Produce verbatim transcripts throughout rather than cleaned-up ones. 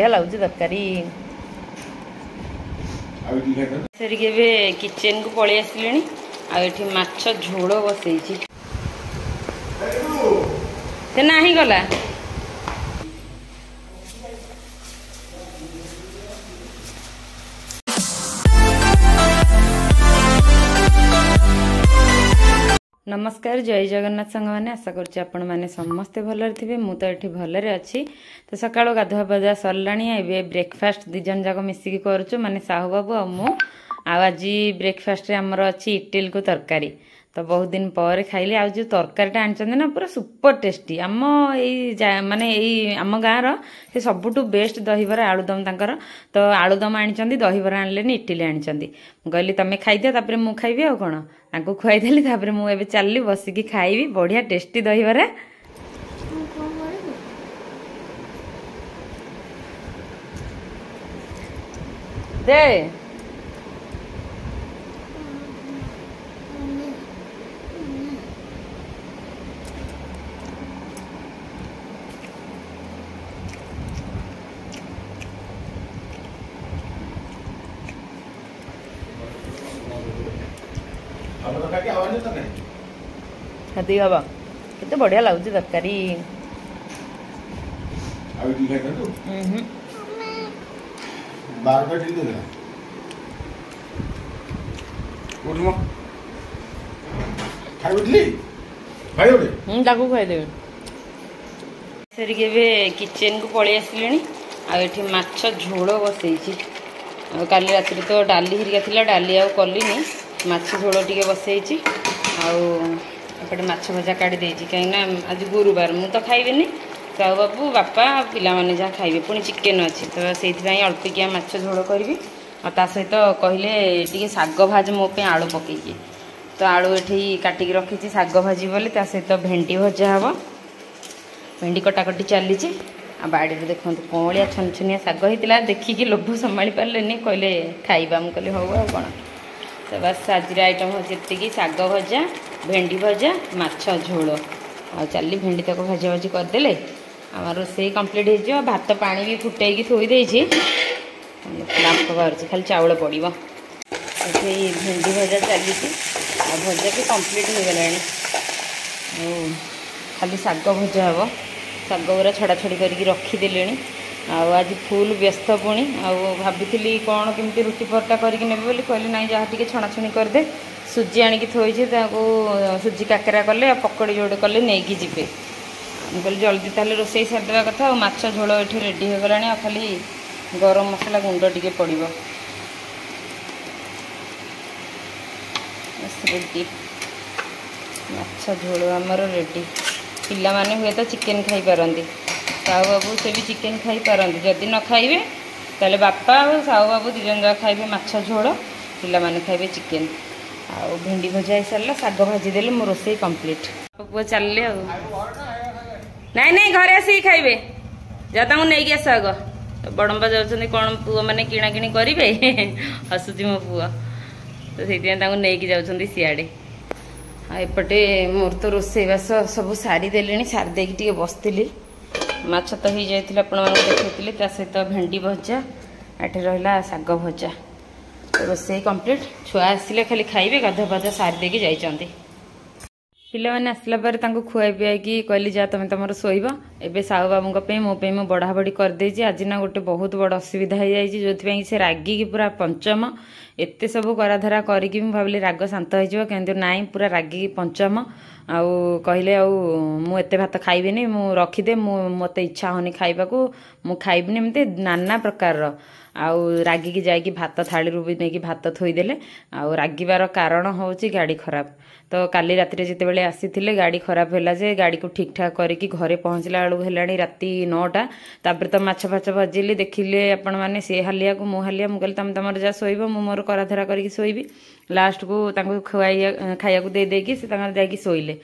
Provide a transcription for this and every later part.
ବଢ଼ିଆ ଲାଗୁଛି ତରକାରୀ। ସାରିକି ଏବେ କିଚେନକୁ ପଳେଇ ଆସିଲିଣି, ଆଉ ଏଠି ମାଛ ଝୋଳ ବସେଇଛି। ସେ ନାହିଁ ଗଲା। ନମସ୍କାର, ଜୟ ଜଗନ୍ନାଥ ସାଙ୍ଗମାନେ। ଆଶା କରୁଛି ଆପଣମାନେ ସମସ୍ତେ ଭଲରେ ଥିବେ। ମୁଁ ତ ଏଠି ଭଲରେ ଅଛି। ତ ସକାଳୁ ଗାଧୁଆ ପାଧୁଆ ସରିଲାଣି। ଏବେ ବ୍ରେକଫାଷ୍ଟ ଦୁଇ ଜଣ ଯାକ ମିଶିକି କରୁଛୁ, ମାନେ ସାହୁ ବାବୁ ଆଉ ମୁଁ। ଆଉ ଆଜି ବ୍ରେକଫାଷ୍ଟରେ ଆମର ଅଛି ଇଟିଲିକୁ ତରକାରୀ। ତ ବହୁତ ଦିନ ପରେ ଖାଇଲି। ଆଉ ଯେଉଁ ତରକାରୀଟା ଆଣିଛନ୍ତି ନା, ପୁରା ସୁପର ଟେଷ୍ଟି। ଆମ ଏଇ ମାନେ ଏଇ ଆମ ଗାଁର ସେ ସବୁଠୁ ବେଷ୍ଟ ଦହିବରା ଆଳୁଦମ ତାଙ୍କର। ତ ଆଳୁଦମ ଆଣିଛନ୍ତି, ଦହିବରା ଆଣିଲେନି, ଇଟିଲି ଆଣିଛନ୍ତି। ମୁଁ କହିଲି ତମେ ଖାଇଦିଅ, ତାପରେ ମୁଁ ଖାଇବି। ଆଉ କ'ଣ, ତାଙ୍କୁ ଖୁଆଇଦେଲି, ତାପରେ ମୁଁ ଏବେ ଚାଲିଲି ବସିକି ଖାଇବି ବଢ଼ିଆ ଟେଷ୍ଟି ଦହିବରା। ଦେ ସେତିକି ହବ। କେତେ ବଢିଆ ଲାଗୁଛି ତରକାରୀ। ତାକୁ ଖୁଆଇଦେବି। ସାରିକି ଏବେ କିଚେନକୁ ପଳେଇ ଆସିଲିଣି, ଆଉ ଏଠି ମାଛ ଝୋଳ ବସେଇଛି। ଆଉ କାଲି ରାତିରେ ତ ଡାଲି ହେରିକା ଥିଲା, ଡାଲି ଆଉ କଲିନି, ମାଛ ଝୋଳ ଟିକେ ବସେଇଛି। ଆଉ ଏପଟେ ମାଛ ଭଜା କାଢ଼ି ଦେଇଛି, କାହିଁକିନା ଆଜି ଗୁରୁବାର, ମୁଁ ତ ଖାଇବିନି, ସାହୁ ବାବୁ, ବାପା, ପିଲାମାନେ ଯାହା ଖାଇବେ। ପୁଣି ଚିକେନ୍ ଅଛି, ତ ସେଇଥିପାଇଁ ଅଳ୍ପିକିଆ ମାଛ ଝୋଳ କରିବି। ଆଉ ତା ସହିତ କହିଲେ ଟିକେ ଶାଗ ଭାଜ ମୋ ପାଇଁ ଆଳୁ ପକେଇକି। ତ ଆଳୁ ଏଠି କାଟିକି ରଖିଛି ଶାଗ ଭାଜି ବୋଲି। ତା ସହିତ ଭେଣ୍ଡି ଭଜା ହେବ, ଭେଣ୍ଡି କଟାକଟି ଚାଲିଛି। ଆଉ ବାଡ଼ିରେ ଦେଖନ୍ତୁ କଅଁଳିଆ ଛନଛନିଆ ଶାଗ ହେଇଥିଲା, ଦେଖିକି ଲୋଭ ସମ୍ଭାଳି ପାରିଲେନି, କହିଲେ ଖାଇବା। ମୁଁ କହିଲି ହଉ, ଆଉ କ'ଣ। ତ ବାସ୍, ଆଜିର ଆଇଟମ୍ ହେଉଛି ଏତିକି, ଶାଗ ଭଜା, ଭେଣ୍ଡି ଭଜା, ମାଛ ଝୋଳ। ଆଉ ଚାଲି ଭେଣ୍ଡି ତାକୁ ଭଜା ଭଜି କରିଦେଲେ ଆମର ରୋଷେଇ କମ୍ପ୍ଲିଟ୍ ହେଇଯିବ। ଭାତ ପାଣି ବି ଫୁଟେଇକି ଥୋଇ ଦେଇଛି, ବାମ୍ଫ ବାହାରୁଛି, ଖାଲି ଚାଉଳ ପଡ଼ିବ। ଏଠି ଭେଣ୍ଡି ଭଜା ଚାଲିଛି, ଆଉ ଭଜା ବି କମ୍ପ୍ଲିଟ୍ ହେଇଗଲାଣି। ଆଉ ଖାଲି ଶାଗ ଭଜା ହେବ। ଶାଗ ଗୁରା ଛଡ଼ା ଛଡ଼ି କରିକି ରଖିଦେଲିଣି। ଆଉ ଆଜି ଫୁଲ୍ ବ୍ୟସ୍ତ ପୁଣି। ଆଉ ଭାବିଥିଲି କ'ଣ କେମିତି ରୁଟି ପରଟା କରିକି ନେବି ବୋଲି, କହିଲି ନାଇଁ, ଯାହା ଟିକେ ଛଣାଛଣି କରିଦେ। ସୁଜି ଆଣିକି ଥୋଇଛି, ତାକୁ ସୁଜି କାକରା କଲେ ଆଉ ପକୋଡ଼ି ଯୋଡ଼େ କଲେ ନେଇକି ଯିବେ। ମୁଁ କହିଲି ଜଲ୍ଦି ତାହେଲେ ରୋଷେଇ ସାରିଦେବା କଥା। ଆଉ ମାଛ ଝୋଳ ଏଠି ରେଡ଼ି ହେଇଗଲାଣି, ଆଉ ଖାଲି ଗରମ ମସଲା ଗୁଣ୍ଡ ଟିକେ ପଡ଼ିବ, ରେଡ଼ି। ମାଛ ଝୋଳ ଆମର ରେଡ଼ି। ପିଲାମାନେ ହୁଏତ ଚିକେନ୍ ଖାଇପାରନ୍ତି, ସାହୁ ବାବୁ ସେ ବି ଚିକେନ୍ ଖାଇପାରନ୍ତି। ଯଦି ନ ଖାଇବେ ତାହେଲେ ବାପା ଆଉ ସାହୁ ବାବୁ ଦୁଇ ଜଣ ଯାକ ଖାଇବେ ମାଛ ଝୋଳ, ପିଲାମାନେ ଖାଇବେ ଚିକେନ୍। ଆଉ ଭେଣ୍ଡି ଭଜା ହେଇସାରିଲା, ଶାଗ ଭାଜିଦେଲେ ମୋ ରୋଷେଇ କମ୍ପ୍ଲିଟ୍। ପୁଅ ଚାଲିଲେ ଆଉ ନାଇଁ ନାଇଁ, ଘରେ ଆସିକି ଖାଇବେ, ଯା ତାଙ୍କୁ ନେଇକି ଆସ ଆଗ। ବଡ଼ମ୍ବା ଯାଉଛନ୍ତି, କ'ଣ ପୁଅମାନେ କିଣାକିଣି କରିବେ, ହସୁଛି ମୋ ପୁଅ, ତ ସେଇଥିପାଇଁ ତାଙ୍କୁ ନେଇକି ଯାଉଛନ୍ତି ସିଆଡ଼େ। ଆଉ ଏପଟେ ମୋର ତ ରୋଷେଇବାସ ସବୁ ସାରିଦେଲିଣି, ସାରି ଦେଇକି ଟିକେ ବସିଥିଲି। ମାଛ ତ ହେଇଯାଇଥିଲା, ଆପଣମାନଙ୍କୁ ଦେଖେଇଥିଲି, ତା ସହିତ ଭେଣ୍ଡି ଭଜା, ଏଠି ରହିଲା ଶାଗ ଭଜା। ରୋଷେଇ କମ୍ପ୍ଲିଟ୍। ଛୁଆ ଆସିଲେ ଖାଲି ଖାଇବେ, ଗାଧୁଆ ପାଧୁଆ ସାରି ଦେଇକି ଯାଇଛନ୍ତି। ପିଲାମାନେ ଆସିଲା ପରେ ତାଙ୍କୁ ଖୁଆଇ ପିଆଇକି କହିଲି ଯା ତମେ ତମର ଶୋଇବ। ଏବେ ସାହୁ ବାବୁଙ୍କ ପାଇଁ ମୋ ପାଇଁ ମୁଁ ବଢ଼ାବଢ଼ି କରିଦେଇଛି। ଆଜି ନା ଗୋଟେ ବହୁତ ବଡ଼ ଅସୁବିଧା ହେଇଯାଇଛି, ଯେଉଁଥିପାଇଁ ସେ ରାଗିକି ପୁରା ପଞ୍ଚମ। ଏତେ ସବୁ କରାଧରା କରିକି ମୁଁ ଭାବିଲି ରାଗ ଶାନ୍ତ ହେଇଯିବ, କିନ୍ତୁ ନାଇଁ, ପୁରା ରାଗିକି ପଞ୍ଚମ। ଆଉ କହିଲେ ଆଉ ମୁଁ ଏତେ ଭାତ ଖାଇବିନି, ମୁଁ ରଖିଦେ, ମୁଁ ମୋତେ ଇଚ୍ଛା ହେଉନି ଖାଇବାକୁ, ମୁଁ ଖାଇବିନି, ଏମିତି ନାନା ପ୍ରକାରର। ଆଉ ରାଗିକି ଯାଇକି ଭାତ ଥାଳିରୁ ବି ନେଇକି ଭାତ ଥୋଇଦେଲେ। ଆଉ ରାଗିବାର କାରଣ ହେଉଛି ଗାଡ଼ି ଖରାପ। ତ କାଲି ରାତିରେ ଯେତେବେଳେ ଆସିଥିଲେ ଗାଡ଼ି ଖରାପ ହେଲା, ଯେ ଗାଡ଼ିକୁ ଠିକ୍ ଠାକ୍ କରିକି ଘରେ ପହଞ୍ଚିଲା ବେଳକୁ ହେଲାଣି ରାତି ନଅଟା। ତାପରେ ତ ମାଛ ଫାଛ ଭାଜିଲି, ଦେଖିଲେ ଆପଣମାନେ, ସେ ହାଲିଆକୁ ମୁଁ ହାଲିଆ। ମୁଁ କହିଲି ତମେ ତମର ଯାହା ଶୋଇବ, ମୁଁ ମୋର କରାଧରା କରିକି ଶୋଇବି। ଲାଷ୍ଟକୁ ତାଙ୍କୁ ଖୁଆଇ ଖାଇବାକୁ ଦେଇ ଦେଇକି ସେ ତାଙ୍କର ଯାଇକି ଶୋଇଲେ,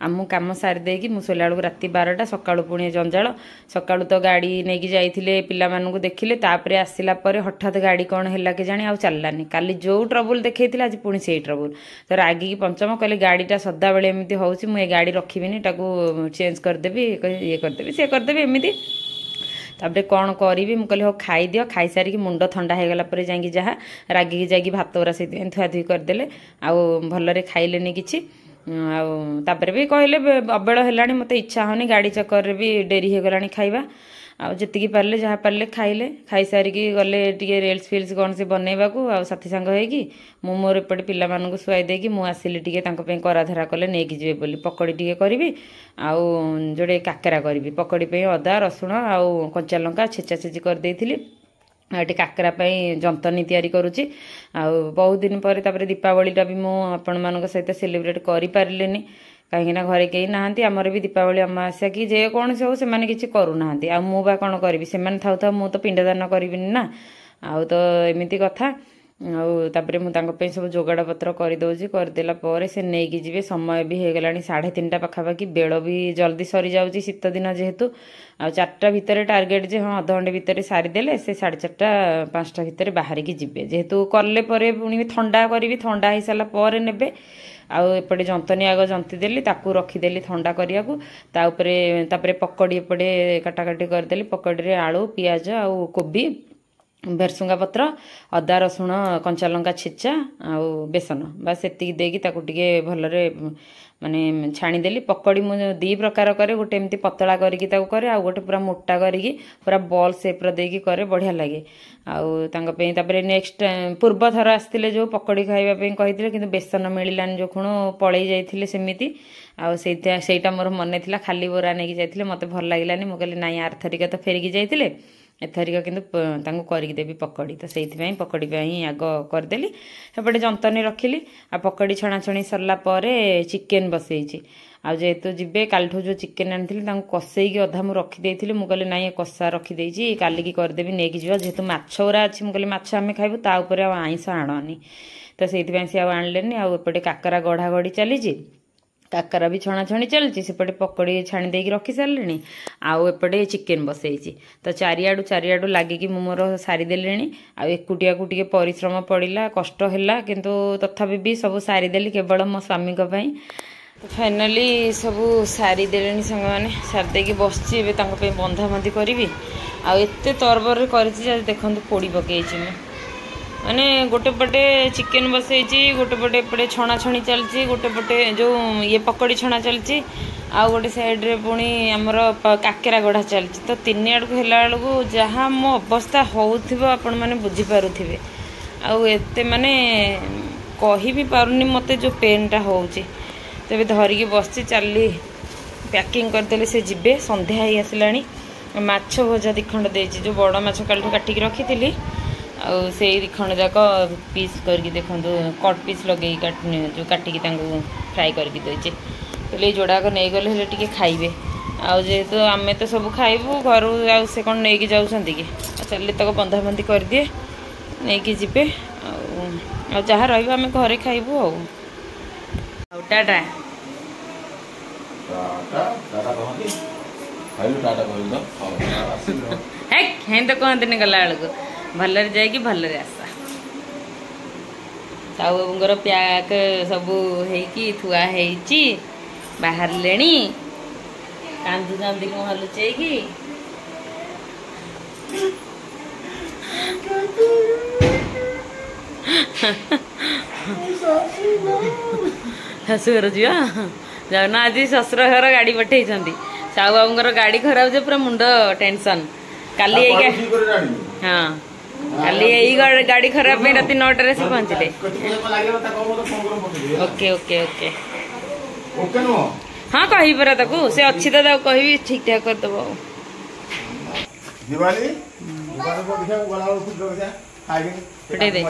ଆଉ ମୁଁ କାମ ସାରି ଦେଇକି ମୁଁ ଶୋଇଲା ବେଳକୁ ରାତି ବାରଟା। ସକାଳୁ ପୁଣି ଜଞ୍ଜାଳ। ସକାଳୁ ତ ଗାଡ଼ି ନେଇକି ଯାଇଥିଲେ, ପିଲାମାନଙ୍କୁ ଦେଖିଲେ, ତାପରେ ଆସିଲା ପରେ ହଠାତ୍ ଗାଡ଼ି କ'ଣ ହେଲା କେଜାଣି, ଆଉ ଚାଲିଲାନି। କାଲି ଯେଉଁ ଟ୍ରବୁଲ୍ ଦେଖେଇଥିଲା, ଆଜି ପୁଣି ସେଇ ଟ୍ରବୁଲ୍। ତ ରାଗିକି ପଞ୍ଚମ, କହିଲେ ଗାଡ଼ିଟା ସଦାବେଳେ ଏମିତି ହେଉଛି, ମୁଁ ଏ ଗାଡ଼ି ରଖିବିନି, ତାକୁ ଚେଞ୍ଜ କରିଦେବି, ଇଏ କରିଦେବି, ସିଏ କରିଦେବି, ଏମିତି। ତାପରେ କ'ଣ କରିବି, ମୁଁ କହିଲି ହଉ ଖାଇଦିଅ, ଖାଇସାରିକି ମୁଣ୍ଡ ଥଣ୍ଡା ହେଇଗଲା ପରେ ଯାଇକି ଯାହା ରାଗିକି ଯାଇକି ଭାତ ଗୁରା ସେଇଥିପାଇଁ ଧୁଆଧୁଇ କରିଦେଲେ, ଆଉ ଭଲରେ ଖାଇଲେନି କିଛି। ଆଉ ତାପରେ ବି କହିଲେ ଅବେଳ ହେଲାଣି, ମୋତେ ଇଚ୍ଛା ହେଉନି, ଗାଡ଼ି ଚକରରେ ବି ଡେରି ହେଇଗଲାଣି ଖାଇବା। ଆଉ ଯେତିକି ପାରିଲେ ଯାହା ପାରିଲେ ଖାଇଲେ। ଖାଇସାରିକି ଗଲେ ଟିକେ ରିଲ୍ସ ଫିଲ୍ସ କ'ଣ ସେ ବନେଇବାକୁ ଆଉ ସାଥୀ ସାଙ୍ଗ ହେଇକି। ମୁଁ ମୋର ଏପଟେ ପିଲାମାନଙ୍କୁ ଶୁଆଇ ଦେଇକି ମୁଁ ଆସିଲି ଟିକେ ତାଙ୍କ ପାଇଁ କରାଧରା କଲେ ନେଇକି ଯିବେ ବୋଲି। ପକୋଡ଼ି ଟିକେ କରିବି ଆଉ ଯୋଡ଼େ କାକେରା କରିବି। ପକୋଡ଼ି ପାଇଁ ଅଦା, ରସୁଣ ଆଉ କଞ୍ଚା ଲଙ୍କା ଛେଚା ଛେଚି କରିଦେଇଥିଲି। ଆଉ ଏଠି କାକେରା ପାଇଁ ଯନ୍ତନୀ ତିଆରି କରୁଛି। ଆଉ ବହୁତ ଦିନ ପରେ ତାପରେ ଦୀପାବଳିଟା ବି ମୁଁ ଆପଣମାନଙ୍କ ସହିତ ସେଲିବ୍ରେଟ୍ କରିପାରିଲିନି, କାହିଁକିନା ଘରେ କେହି ନାହାନ୍ତି। ଆମର ବି ଦୀପାବଳି ଅମାବାସ୍ୟା କି ଯେକୌଣସି ହଉ ସେମାନେ କିଛି କରୁନାହାନ୍ତି, ଆଉ ମୁଁ ବା କ'ଣ କରିବି? ସେମାନେ ଥାଉ ଥାଉ ମୁଁ ତ ପିଣ୍ଡଦାନ କରିବିନି ନା। ଆଉ ତ ଏମିତି କଥା। ଆଉ ତାପରେ ମୁଁ ତାଙ୍କ ପାଇଁ ସବୁ ଯୋଗାଡ଼ ପତ୍ର କରିଦେଉଛି, କରିଦେଲା ପରେ ସେ ନେଇକି ଯିବେ। ସମୟ ବି ହେଇଗଲାଣି ସାଢ଼େ ତିନିଟା ପାଖାପାଖି, ବେଳ ବି ଜଲ୍ଦି ସରିଯାଉଛି ଶୀତ ଦିନ ଯେହେତୁ। ଆଉ ଚାରିଟା ଭିତରେ ଟାର୍ଗେଟ୍ ଯେ ହଁ ଅଧଘଣ୍ଟେ ଭିତରେ ସାରିଦେଲେ ସେ ସାଢ଼େ ଚାରିଟା ପାଞ୍ଚଟା ଭିତରେ ବାହାରିକି ଯିବେ। ଯେହେତୁ କଲେ ପରେ ପୁଣି ଥଣ୍ଡା କରିବି, ଥଣ୍ଡା ହେଇସାରିଲା ପରେ ନେବେ। ଆଉ ଏପଟେ ଯନ୍ତନୀ ଆଗ ଜନ୍ତି ଦେଲି, ତାକୁ ରଖିଦେଲି ଥଣ୍ଡା କରିବାକୁ। ତା ଉପରେ ତାପରେ ପକୋଡ଼ି ଏପଟେ କାଟାକାଟି କରିଦେଲି। ପକୋଡ଼ିରେ ଆଳୁ, ପିଆଜ ଆଉ କୋବି, ଭେରସୁଙ୍ଗା ପତ୍ର, ଅଦା, ରସୁଣ, କଞ୍ଚା ଲଙ୍କା ଛେଚା ଆଉ ବେସନ, ବାସ୍ ସେତିକି ଦେଇକି ତାକୁ ଟିକେ ଭଲରେ ମାନେ ଛାଣିଦେଲି। ପକୋଡ଼ି ମୁଁ ଦୁଇ ପ୍ରକାର କରେ, ଗୋଟେ ଏମିତି ପତଳା କରିକି ତାକୁ କରେ, ଆଉ ଗୋଟେ ପୁରା ମୋଟା କରିକି ପୁରା ବଲ୍ ସେପ୍ର ଦେଇକି କରେ, ବଢ଼ିଆ ଲାଗେ। ଆଉ ତାଙ୍କ ପାଇଁ ତାପରେ ନେକ୍ସଟ ପୂର୍ବ ଥର ଆସିଥିଲେ ଯେଉଁ ପକୋଡ଼ି ଖାଇବା ପାଇଁ କହିଥିଲେ, କିନ୍ତୁ ବେସନ ମିଳିଲାନି ଯେଉଁ ଖୁଣୁ ପଳେଇ ଯାଇଥିଲେ ସେମିତି। ଆଉ ସେଇଟା ସେଇଟା ମୋର ମନେ ଥିଲା, ଖାଲି ବରା ନେଇକି ଯାଇଥିଲେ, ମୋତେ ଭଲ ଲାଗିଲାନି। ମୁଁ କହିଲି ନାଇଁ, ଆରଥରିକା ତ ଫେରିକି ଯାଇଥିଲେ, ଏଥରିକ କିନ୍ତୁ ତାଙ୍କୁ କରିକି ଦେବି ପକୋଡ଼ି। ତ ସେଇଥିପାଇଁ ପକୋଡ଼ି ପାଇଁ ଆଗ କରିଦେଲି, ସେପଟେ ଯନ୍ତନୀ ରଖିଲି। ଆଉ ପକୋଡ଼ି ଛଣାଛଣି ସରିଲା ପରେ ଚିକେନ୍ ବସେଇଛି। ଆଉ ଯେହେତୁ ଯିବେ, କାଲିଠୁ ଯେଉଁ ଚିକେନ୍ ଆଣିଥିଲି ତାଙ୍କୁ କଷେଇକି ଅଧା ମୁଁ ରଖିଦେଇଥିଲି। ମୁଁ କହିଲି ନାଇଁ, ଏ କଷା ରଖିଦେଇଛି, କାଲିକି କରିଦେବି, ନେଇକି ଯିବା। ଯେହେତୁ ମାଛ ଗୁରା ଅଛି, ମୁଁ କହିଲି ମାଛ ଆମେ ଖାଇବୁ, ତା ଉପରେ ଆଉ ଆଇଁଷ ଆଣନି। ତ ସେଇଥିପାଇଁ ସେ ଆଉ ଆଣିଲେନି। ଆଉ ଏପଟେ କାକରା ଗଢ଼ା ଗଢ଼ି ଚାଲିଛି, କାକରା ବି ଛଣାଛଣି ଚାଲିଛି, ସେପଟେ ପକୋଡ଼ି ଛାଣି ଦେଇକି ରଖି ସାରିଲିଣି, ଆଉ ଏପଟେ ଚିକେନ୍ ବସେଇଛି। ତ ଚାରିଆଡ଼ୁ ଚାରିଆଡ଼ୁ ଲାଗିକି ମୁଁ ମୋର ସାରିଦେଲିଣି। ଆଉ ଏକୁଟିଆକୁ ଟିକେ ପରିଶ୍ରମ ପଡ଼ିଲା, କଷ୍ଟ ହେଲା, କିନ୍ତୁ ତଥାପି ବି ସବୁ ସାରିଦେଲି କେବଳ ମୋ ସ୍ୱାମୀଙ୍କ ପାଇଁ। ତ ଫାଇନାଲି ସବୁ ସାରିଦେଲିଣି ସାଙ୍ଗମାନେ, ସାରିଦେଇକି ବସିଛି। ଏବେ ତାଙ୍କ ପାଇଁ ବନ୍ଧାବନ୍ଧି କରିବି। ଆଉ ଏତେ ତରବରରେ କରିଛି ଯେ ଦେଖନ୍ତୁ ପୋଡ଼ି ପକେଇଛି ମୁଁ। ମାନେ ଗୋଟେ ପଟେ ଚିକେନ୍ ବସେଇଛି, ଗୋଟେ ପଟେ ଏପଟେ ଛଣାଛଣି ଚାଲିଛି, ଗୋଟେ ପଟେ ଯେଉଁ ଇଏ ପକୋଡ଼ି ଛଣା ଚାଲିଛି, ଆଉ ଗୋଟେ ସାଇଡ଼୍ରେ ପୁଣି ଆମର କାକେରା ଗଢ଼ା ଚାଲିଛି। ତ ତିନି ଆଡ଼କୁ ହେଲା ବେଳକୁ ଯାହା ମୋ ଅବସ୍ଥା ହେଉଥିବ ଆପଣମାନେ ବୁଝିପାରୁଥିବେ। ଆଉ ଏତେ ମାନେ କହି ବି ପାରୁନି ମୋତେ ଯେଉଁ ପେନ୍ଟା ହେଉଛି। ତେବେ ଧରିକି ବସିଛି, ଚାଲି ପ୍ୟାକିଂ କରିଦେଲେ ସେ ଯିବେ। ସନ୍ଧ୍ୟା ହେଇ ଆସିଲାଣି। ମାଛ ଭଜା ଦୁଇଖଣ୍ଡ ଦେଇଛି, ଯେଉଁ ବଡ଼ ମାଛ କାଲିଠୁ କାଟିକି ରଖିଥିଲି, ଆଉ ସେଇ ଦୁଇଖଣ୍ଡ ଯାକ ପିସ୍ କରିକି ଦେଖନ୍ତୁ କଟ୍ ପିସ୍ ଲଗେଇକି ଯେଉଁ କାଟିକି ତାଙ୍କୁ ଫ୍ରାଏ କରିକି ଦେଇଛି। କହିଲେ ଏଇ ଯୋଡ଼ାକ ନେଇଗଲେ ହେଲେ ଟିକେ ଖାଇବେ। ଆଉ ଯେହେତୁ ଆମେ ତ ସବୁ ଖାଇବୁ ଘରୁ, ଆଉ ସେ କ'ଣ ନେଇକି ଯାଉଛନ୍ତି କି? ଆଉ ଚାଲି ତାକୁ ବନ୍ଧାବନ୍ଧି କରିଦିଏ, ନେଇକି ଯିବେ। ଆଉ ଆଉ ଯାହା ରହିବ ଆମେ ଘରେ ଖାଇବୁ। ଆଉ ଆଉ ଟାଟା। ଟାଟା କହନ୍ତି, ଖାଇଲୁ ଟାଟା କହିଲୁ ତ। ହେକ୍, ହେଁ ତ କହନ୍ତିନି ଗଲା ବେଳକୁ। ଭଲରେ ଯାଇକି ଭଲରେ ଆସ। ସାହୁ ବାବୁଙ୍କର ପ୍ୟାକ୍ ସବୁ ହେଇକି ଥୁଆ ହେଇଛି, ବାହାରିଲେଣି, କାନ୍ଦୁଛନ୍ତି ମୁହଁ ଲୁଚେଇକି। ଶାଶୁଘର ଯିବା ଯାଉନ। ଆଜି ଶ୍ୱଶୁର ଘର ଗାଡ଼ି ପଠେଇଛନ୍ତି। ସାହୁ ବାବୁଙ୍କର ଗାଡ଼ି ଖରାପ ଯେ ପୁରା ମୁଣ୍ଡ ଟେନସନ୍। କାଲି ଏଇ ହଁ କାଲି ଏଇ ଗାଡ଼ି ଖରାପ ପାଇଁ ରାତି ନଅଟାରେ ଆସି ପହଞ୍ଚିଲେ। ଓକେ ଓକେ ଓକେ, ହଁ କହିବି ପରା ତାକୁ, ସେ ଅଛି ତ, ତାକୁ କହିବି ଠିକ ଠାକ କରିଦବ। ଆଉ ଫୁଟେଇ ଦେ,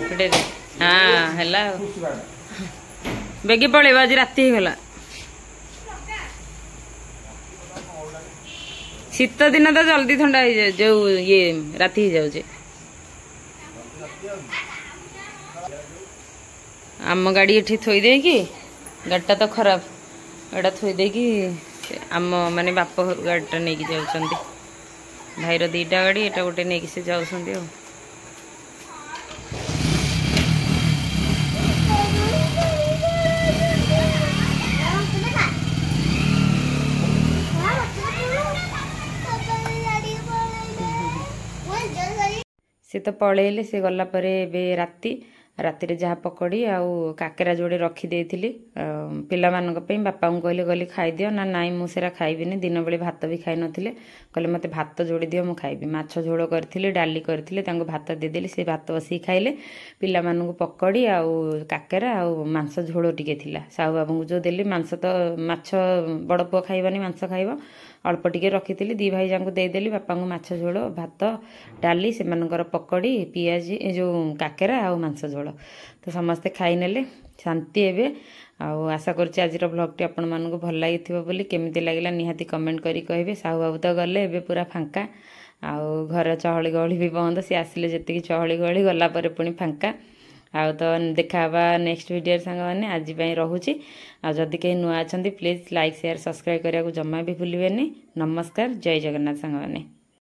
ଫୁଟେଇ ଦେ। ହଁ ହେଲା, ଆଉ ବେଗି ପଳେଇବ, ଆଜି ରାତି ହେଇଗଲା। ଶୀତ ଦିନ ତ ଜଲ୍ଦି ଥଣ୍ଡା ହେଇଯାଏ, ଯୋଉ ଇଏ ରାତି ହେଇଯାଉଛି। ଆମ ଗାଡ଼ି ଏଠି ଥୋଇ ଦେଇକି, ଗାଡ଼ିଟା ତ ଖରାପ, ଏଇଟା ଥୋଇ ଦେଇକି ଆମ ମାନେ ବାପ ଘରୁ ଗାଡ଼ିଟା ନେଇକି ଯାଉଛନ୍ତି। ଭାଇର ଦୁଇଟା ଗାଡ଼ି, ଏଇଟା ଗୋଟେ ନେଇକି ସେ ଯାଉଛନ୍ତି। ଆଉ ସେ ତ ପଳେଇଲେ। ସେ ଗଲା ପରେ ଏବେ ରାତି, ରାତିରେ ଯାହା ପକୋଡ଼ି ଆଉ କାକେରା ଯୋଡ଼େ ରଖିଦେଇଥିଲି ପିଲାମାନଙ୍କ ପାଇଁ। ବାପାଙ୍କୁ କହିଲେ, କହିଲେ ଖାଇଦିଅ। ନା ନାଇଁ, ମୁଁ ସେରା ଖାଇବିନି। ଦିନବେଳେ ଭାତ ବି ଖାଇନଥିଲେ। କହିଲେ ମୋତେ ଭାତ ଯୋଡ଼ି ଦିଅ, ମୁଁ ଖାଇବି। ମାଛ ଝୋଳ କରିଥିଲି, ଡାଲି କରିଥିଲି, ତାଙ୍କୁ ଭାତ ଦେଇଦେଲି, ସେ ଭାତ ବସିକି ଖାଇଲେ। ପିଲାମାନଙ୍କୁ ପକୋଡ଼ି ଆଉ କାକେରା ଆଉ ମାଂସ ଝୋଳ ଟିକେ ଥିଲା। ସାହୁ ବାବୁଙ୍କୁ ଯେଉଁ ଦେଲି ମାଂସ, ତ ମାଛ ବଡ଼ ପୁଅ ଖାଇବନି, ମାଂସ ଖାଇବ, ଅଳ୍ପ ଟିକେ ରଖିଥିଲି, ଦୁଇ ଭାଇ ଯାଙ୍କୁ ଦେଇଦେଲି। ବାପାଙ୍କୁ ମାଛ ଝୋଳ, ଭାତ, ଡାଲି, ସେମାନଙ୍କର ପକୋଡ଼ି, ପିଆଜି, ଏ ଯେଉଁ କାକେରା ଆଉ ମାଂସ ଝୋଳ। ତ ସମସ୍ତେ ଖାଇନେଲେ, ଶାନ୍ତି ଏବେ। ଆଉ ଆଶା କରୁଛି ଆଜିର ବ୍ଲଗ୍ଟି ଆପଣମାନଙ୍କୁ ଭଲ ଲାଗିଥିବ ବୋଲି। କେମିତି ଲାଗିଲା ନିହାତି କମେଣ୍ଟ କରି କହିବେ। ସାହୁ ବାବୁ ତ ଗଲେ, ଏବେ ପୁରା ଫାଙ୍କା ଆଉ ଘର ଚହଳି ଗହଳି ବି ବନ୍ଦ। ସେ ଆସିଲେ ଯେତିକି ଚହଳି ଗହଳି, ଗଲା ପରେ ପୁଣି ଫାଙ୍କା। ଆଉ ତ ଦେଖା ହେବା ନେକ୍ସଟ ଭିଡ଼ିଓରେ ସାଙ୍ଗମାନେ, ଆଜି ପାଇଁ ରହୁଛି। ଆଉ ଯଦି କେହି ନୂଆ ଅଛନ୍ତି, ପ୍ଲିଜ୍ ଲାଇକ୍, ସେୟାର, ସବସ୍କ୍ରାଇବ୍ କରିବାକୁ ଜମା ବି ଭୁଲିବେନି। ନମସ୍କାର, ଜୟ ଜଗନ୍ନାଥ ସାଙ୍ଗମାନେ।